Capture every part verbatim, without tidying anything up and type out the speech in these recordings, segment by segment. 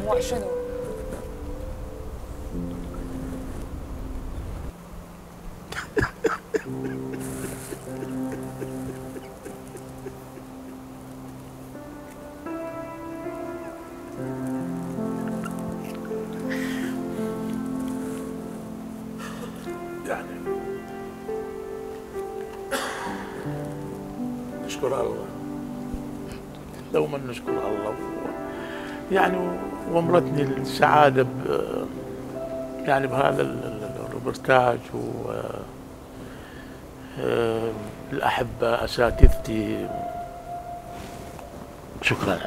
دموع شنو؟ يعني نشكر الله، دوما نشكر الله، يعني وامرتني السعادة ب يعني بهذا الروبرتاج، و الأحبة أساتذتي شكرا،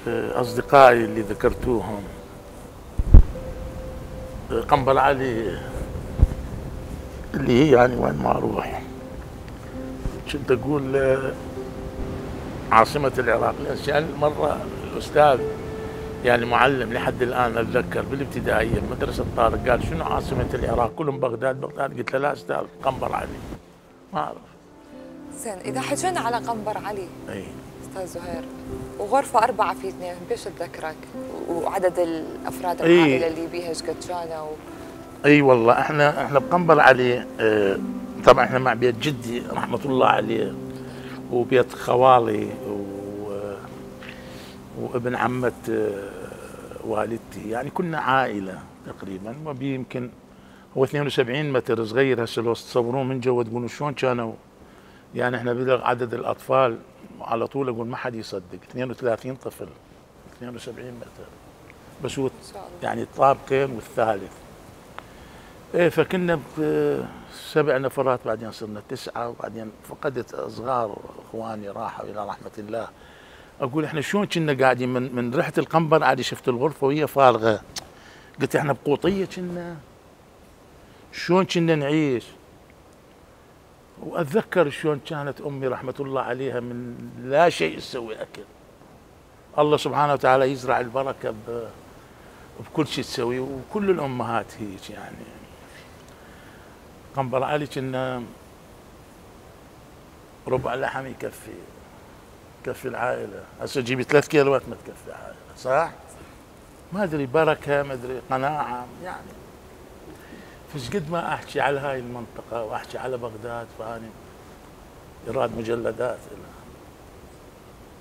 أصدقائي اللي ذكرتوهم، قنبر علي اللي هي يعني وين ما أروح كنت أقول عاصمة العراق، لأن مرة الأستاذ يعني معلم لحد الآن أتذكر بالابتدائية مدرسة طارق قال شنو عاصمة العراق؟ كلهم بغداد بغداد، قلت له لا أستاذ قنبر علي، ما أعرف. زين إذا حكينا على قنبر علي أي أستاذ زهير، وغرفة أربعة في اثنين بيش تذكرك؟ وعدد الأفراد أي العائلة اللي بيها ايش قد كانوا؟ أي والله احنا احنا بقنبر علي اه طبعا احنا مع بيت جدي رحمة الله عليه، وبيت خوالي وابن عمة والدتي، يعني كنا عائلة تقريبا، وبي يمكن هو اثنين وسبعين متر صغير هسه لو تتصورون من جوا تقولون شلون كانوا، يعني احنا بلغ عدد الأطفال على طول أقول ما حد يصدق اثنين وثلاثين طفل اثنين وسبعين متر بس هو يعني طابقين والثالث. ايه فكنا بسبع نفرات، بعدين صرنا تسعة، وبعدين فقدت صغار اخواني راحوا إلى رحمة الله. اقول احنا شلون كنا قاعدين من من ريحه القنبر عادي، شفت الغرفه وهي فارغه، قلت احنا بقوطيه كنا، شلون كنا نعيش. واتذكر شلون كانت امي رحمه الله عليها من لا شيء تسوي اكل، الله سبحانه وتعالى يزرع البركه بكل شيء تسوي، وكل الامهات هيك يعني. قنبر علي كنا ربع لحم يكفي تكفي العائلة، هسه تجيبي ثلاث كيلوات ما تكفي عائلة، صح؟ ما ادري بركة، ما ادري قناعة يعني. فش قد ما احكي على هاي المنطقة واحكي على بغداد، فاني ايراد مجلدات لها.